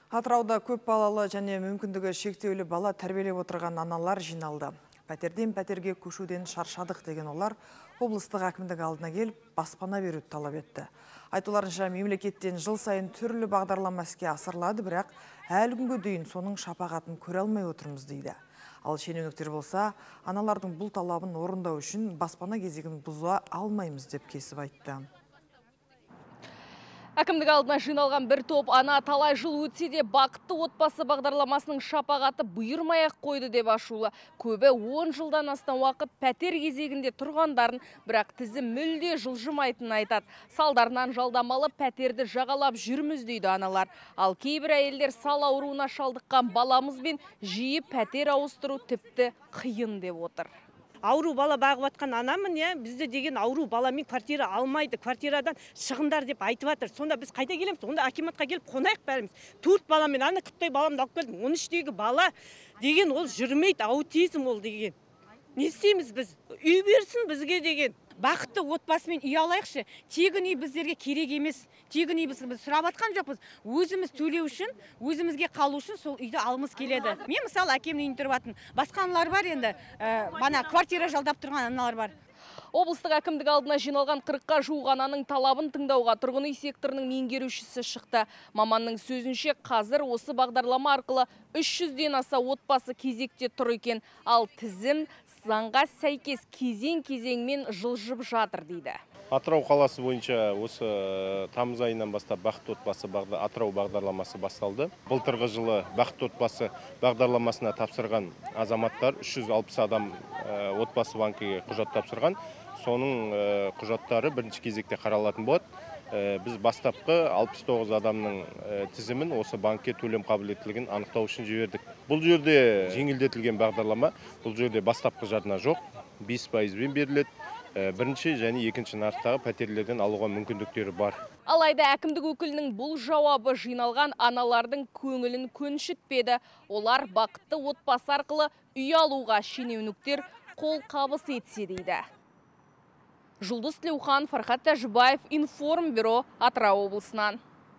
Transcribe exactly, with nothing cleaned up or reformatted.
Атырауда көп балалы және мүмкіндігі шектеулі бала тәрбиелеп отырған аналар жиналды. Пәтерден пәтерге көшуден шаршадық деген олар облыстық әкімдік алдына келіп баспана беруді талап етті. Айтуларынша мемлекеттен жыл сайын түрлі бағдарлама іске асырылады, бірақ әлі күнге дейін соның шапағатын көре алмай отырмыз дейді. Ал шенеуніктер болса, аналардың бұл талабын орындау үшін баспана кезегін бұза алмаймыз деп кесіп айтты. Әкімдік алдына жиналған бір топ ана талай жыл өтсе де бақытты отбасы бағдарламасының шапағаты бұйырмай-ақ қойды деп ашулы. Көбі он жылдан астам уақыт пәтер кезегінде тұрғандарын, бірақ тізім мүлде жылжымайтынын айтады. Салдарынан жалдамалы пәтерді жағалап жүрміз дейді аналар. Ал кейбір әйелдер сал ауруына шалдыққан баламызбен жиі пәтер ауыстыру тіпті қиын деп отыр. Ауру бала бағып атқан анамын, я, бізде деген ауру баламен квартира алмайды, квартирадан шығындар деп айтып жатыр. Сонда біз қайда келеміз? Онда акиматқа келіп қонайық бәріміз. Төрт баламен, ана күптай баламды алып келдім. он үштегі бала деген ол жүрмейді, аутизм ол деген. Не істейміз біз? Үй берсін бізге деген. Бақытты отбасымен үй алайықшы. Тегін үй біздерге керек емес. Тегін үй біз сұрап атқан жоқпыз. Өзіміз төлеу үшін, өзімізге қалу үшін сол үйді алымыз келеді. Мен мысалы әкемнің үйін тұрып атын. Басқа аналар бар енді, бана квартира жалдап тұрған аналар бар. Облыстық әкімдік алдына жиналған қырыққа жуық ананың талабын тыңдауға тұрғын үй секторының меңгерушісі шықты. Маманның сөзінше қазір осы бағдарлама арқылы үш жүзден аса отбасы кезекте тұр екен. Ал тізім заңға сәйкес кезең-кезеңмен жылжып жатыр дейді. Атырау қаласы бойынша осы тамыз айынан бастап бақытты отбасы Атырау бағдарламасы басталды. Былтырғы жылы бақытты отбасы бағдарламасына тапсырған азаматтар үш жүз алпыс адам отбасы банкіге құжат тапсырған. Соның құжаттары бірінші кезекте қаралатын болады. Біз бастапқы алпыс тоғыз адамның тізімін осы банкке төлем қабілеттілігін анықтау үшін жібердік. Бұл жерде жеңілдетілген бағдарлама, бұл жерде бастапқы жарна жоқ, бес пайызбен беріледі. Бірінші және екінші нарықтағы пәтерлерден алуға мүмкіндіктері бар. Алайда әкімдік өкілінің бұл жауабы жиналған аналардың көңілін көншітпеді. Олар бақытты отбасы арқылы үй алуға шенеуніктер қол қабыс етсе дейді. Жұлдыз Тілеухан, Фархат Тәжібаев, Информбюро, Атырау облысынан.